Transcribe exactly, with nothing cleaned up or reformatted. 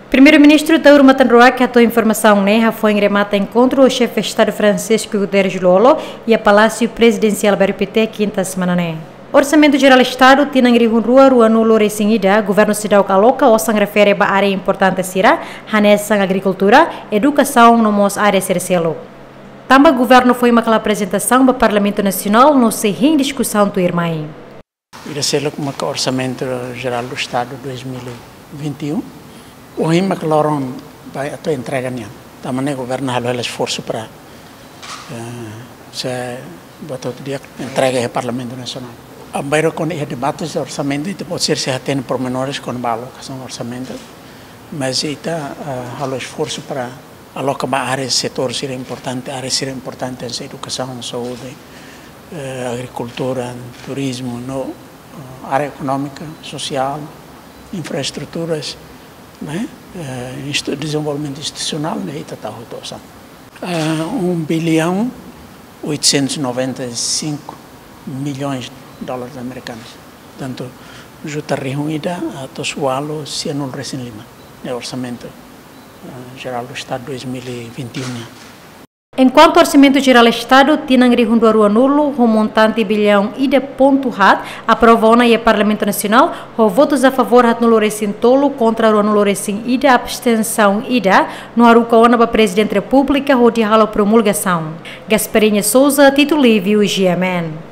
Primeiru-Ministru Taur Matan Ruak hato'o informasaun ne'e hafoin remata enkontru ho Xefe Estadu Francisco Guterres Lú-Olo iha Palásiu Prezidensiál Bairru Pité, kinta semana ne'e. Orsamentu Jerál Estadu tinan rihun rua ruanulu-resin-ida, governu seidauk aloka osan refere ba área importante sira, hanesan agrikultura, edukasaun no mós área sira seluk. Tanba governu foin mak halo aprezentasaun ba Parlamentu Nasionál no sei hein diskusaun tuirmai. Ida seluk maka Orsamentu Jerál do Estadu dois mil e vinte e um. Ohin maka loron ba atu entrega nian. Tanba ne'e governu halo hela esforsu para, eh, se batu dia entrega iha Parlamentu Nasionál. Bainhira kuandu iha debate orsamentu, ita pode ser se hatene pormenores kona-ba alokasaun orsamentu, mas ita, eh, halo esforsu para aloka ba área setór sira importante, área sira importante hanesan edukasaun, saúde, eh, agrikultura, turizmu, no, eh, área ekonómika, sosiál, infraestruturas, ne'e? Eh, instu-, dezenvolvimentu institusionál, ne'e ita tau hotu osan. Eh, um bilhão oitocentos e noventa e cinco milhões de dólares americanos. Portantu, juta rihun ida atus ualu sianulu-resin-lima, ne'e Orsamentu, eh, Jerál do Estadu dois mil e vinte e um nian. Enkuantu Orsamentu Jerál Estadu tinan rihun rua ruanulu ho montante bilhaun ida pontu haat aprova ona iha Parlamentu Nasionál, ho votus a favór haatnulu-resin-tolu, kontra ruanulu-resin-ida, abstensaun ida, no haruka ona ba Prezidente Repúblika hodi halo promulgasaun. Gasparinha Souza, Tito Livio, G M N.